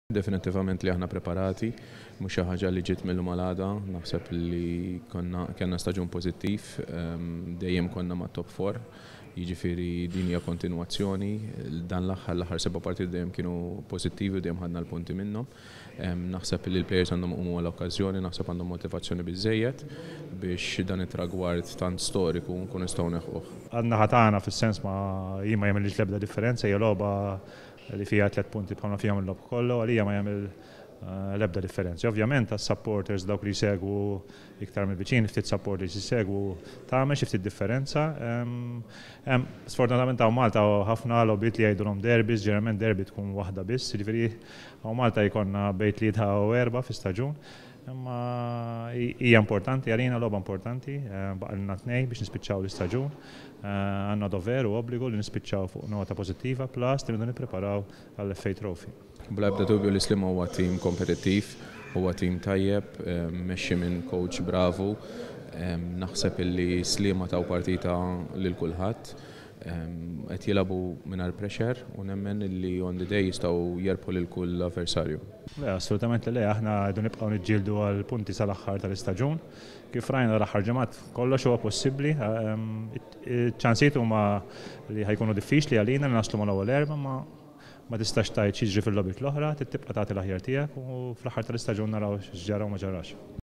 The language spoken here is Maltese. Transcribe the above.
Definittivament li aħna preparati, mhux xi ħaġa li ġiet mill-lum għal għada, naħseb li konna kellna staġun pożittiv, dejjem konna mat-top 4, jiġifieri din hija kontinwazzjoni, dan l-aħħar l-aħħar seba' partiti dejjem kienu pożittivi u dejjem ħadna l-punti minnhom. Naħseb li l-players għandhom iqumu għall-okkażjoni, naħseb għandhom motivazzjoni biżżejjed biex dan it-tragward tant storiku nkunu nistgħu neħquh. Għan-naħa tagħna fis-sens ma jien ma jagħmillix l-ebda differenza, hija logħba li fiha tlett punti bħalma fihom il-logħob kollu, għalija ma jagħmel l-ebda differenza. Ovvjament għas-supporters dawk li jsegwu iktar mill-viċin, ftit supporters jsegwu tagħmel xi ftit differenza. Sfortunatament hawn Malta ħafna logħbiet li jgħidulhom derbys, ġeneralment derby tkun waħda biss, jiġifieri hawn Malta jkollna bejn 3 u 4 fi staġun. Imma hija importanti għalina, logħba importanti, baqgħalna tnejn biex nispiċċaw l-istaġun. Għandna dover u obbligu li nispiċċaw fuq nota pożittiva plus li rridu nippreparaw għall-FA Trophy. Bla ebda dubju li Sliema huwa tim kompetittiv, huwa tim tajjeb, mmexxi minn coach bravu. Naħseb illi Sliema taw partita lil kulħadd. Qed jilagħbu mingħajr pressure u nemmen li on the day jistgħu jerbħu lil kull avversarju. Le, assolutament li le, aħna rridu nibqgħu niġġieldu għal punti sal-aħħar tal-istaġun. Kif rajna l-aħħar ġimgħat kollox huwa possibbli. Iċ-ċansijiet huma li ħa jkunu diffiċli għalina li naslu mal-ewwel erba' ma ma tistax tgħid x'jiġri fil-logħbiet l-oħra, trid tibqa' tagħti l-aħjar tiegħek u fl-aħħar tal-istaġun naraw x'ġara u ma ġarax.